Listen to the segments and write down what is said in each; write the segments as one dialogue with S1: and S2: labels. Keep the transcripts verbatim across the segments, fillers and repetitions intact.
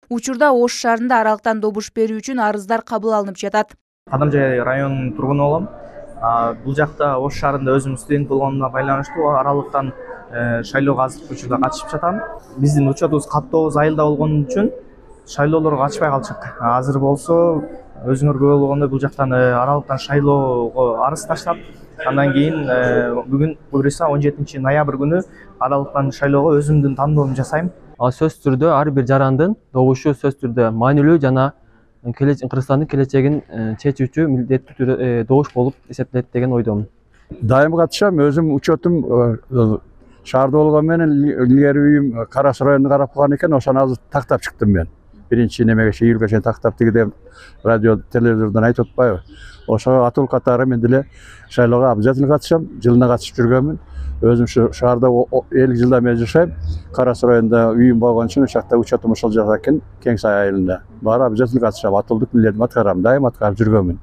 S1: Учурда Ош шаарында аралыктан добуш берүү үчүн арыздар кабыл алынып жатат.
S2: Кадамжай районунун тургуну болом. Бул жакта Ош шаарында өзүм студент болгонума байланыштуу аралыктан шайлоого азыркы учурда катышып жатам. Биздин учетубуз каттообуз айылда болгон үчүн шайлоолорго катышпай калчык. Азыр болсо өзүңөр көрүп болгондой бул жактан аралыктан шайлоого арыз таштап, андан кийин бүгүн буюрса он жетинчи ноябрь күнү аралыктан шайлоого өзүмдүн тандоомду жасайм.
S3: Ал сөзсүз түрдө ар бир жарандын добушу сөзсүз түрдө маанилүү жана Кыргызстандын келечегин чечүүчү милдеттүү түрдө добуш болуп эсептелет деген ойдомун.
S4: Дайым катышам, өзүм учетум шаарда болгон менен илгери үйүм Кара Суу районуна карап калган экен, ошону азыр тактап чыктым мен. Биринчи немеге июлга чейин тактап тигиде радио телевизордон айтып атпайбы. Ошого атыл катары мен деле шайлоого обязательно катышам, жылына катышып жүргөнмүн. Өзүм ушу шаарда элүү жылдан бери жашайм. Кара Суу районунда үйүм болгон үчүн ошол жакта учетум ошол жакта экен, Кең Сай айылында. Баары обязательно катышам, атылдык милдетимди аткарам, дайым аткарып жүргөнмүн.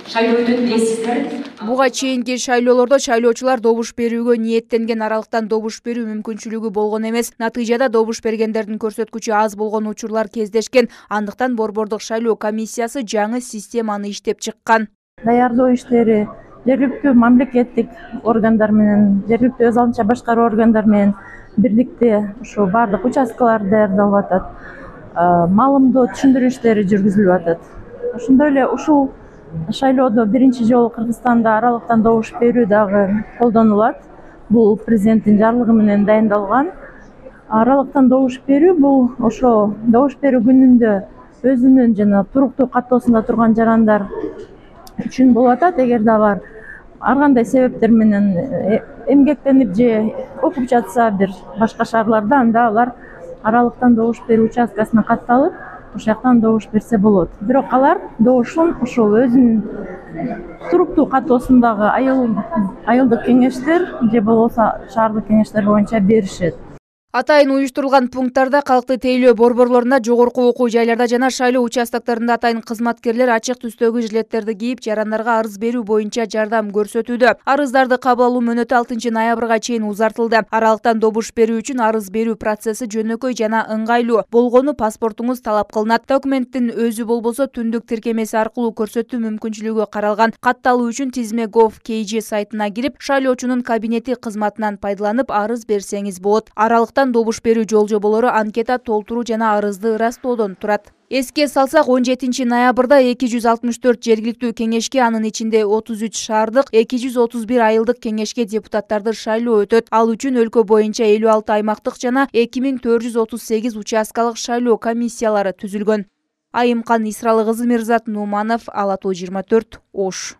S1: Шайлоо өтөт дейсиздер. Буга чейинки шайлоолордо шайлоочулар добуш берүүгө ниеттенген аралыктан добуш берүү мүмкүнчүлүгү болгон эмес. Натыйжада добуш бергендердин көрсөткүчү аз болгон учурлар кездешкен. Андыктан Борбордук шайлоо комиссиясы жаңы системаны иштеп чыккан.
S5: Даярдоо иштери жергиликтүү мамлекеттик органдар менен, жергиликтүү өз алдынча башкаруу органдар менен бирликте ушу бардык участкалар даярдалып атат. Маалымдоо түшүндүрүү иштери жүргүзүлүп атат. Ошондой эле ушул шайлоодо биринчи жолу Кыргызстанда аралыктан добуш берүү дагы колдонулат. Бул президенттин жарлыгы менен дайындалган. Аралыктан добуш берүү бул ошо добуш берүү күнүндө өзүнүн жана туруктуу каттоосунда турган жарандар үчүн болуп атат. Эгерде алар ар кандай себептер менен эмгектенип же окуп жатса бир башка шаарларда, анда алар аралыктан добуш берүү участкасына катталып, ошол жактан добуш берсе болот. Бирок алар добушун ошол өзүнүн туруктуу каттоосундагы айылдык кеңештер же болбосо шаардык кеңештер боюнча беришет.
S1: Атайын уюштурулган пункттарда калкты тейлөө борборлорунда, жогорку окуу жайларда жана шайлоо участоктарында атайын кызматкерлер ачык түстөгү жилеттерди кийип, жарандарга арыз берүү боюнча жардам көрсөтүүдө. Арыздарды кабыл алуу мөөнөтү алтынчы ноябрга чейин узартылды. Аралыктан добуш берүү үчүн арыз берүү процесси жөнөкөй жана ыңгайлуу болгону паспортуңуз талап кылынат. Документтин өзү болбосо түндүк тиркемеси аркылуу көрсөтүү мүмкүнчүлүгү каралган. Катталуу үчүн тизме gov точка kg сайтына кирип, шайлоочунун кабинети кызматынан пайдаланып арыз берсеңиз болот. Аралыктан добуш берүү жол жоболору анкета толтуруу жана арызды ырастоодон турат. Эске салсак, он жетинчи ноябрда эки жүз алтымыш төрт жергиликтүү кеңешке, анын ичинде отуз үч шаардык, эки жүз отуз бир айылдык кеңешке депутаттарды шайлоо өтөт. Ал үчүн өлкө боюнча элүү алты аймактык жана эки миң төрт жүз отуз сегиз участкалык шайлоо комиссиялары түзүлгөн. Айымкан Исралы кызы, Мирзат Нуманов, Ала тоо жыйырма төрт, Ош.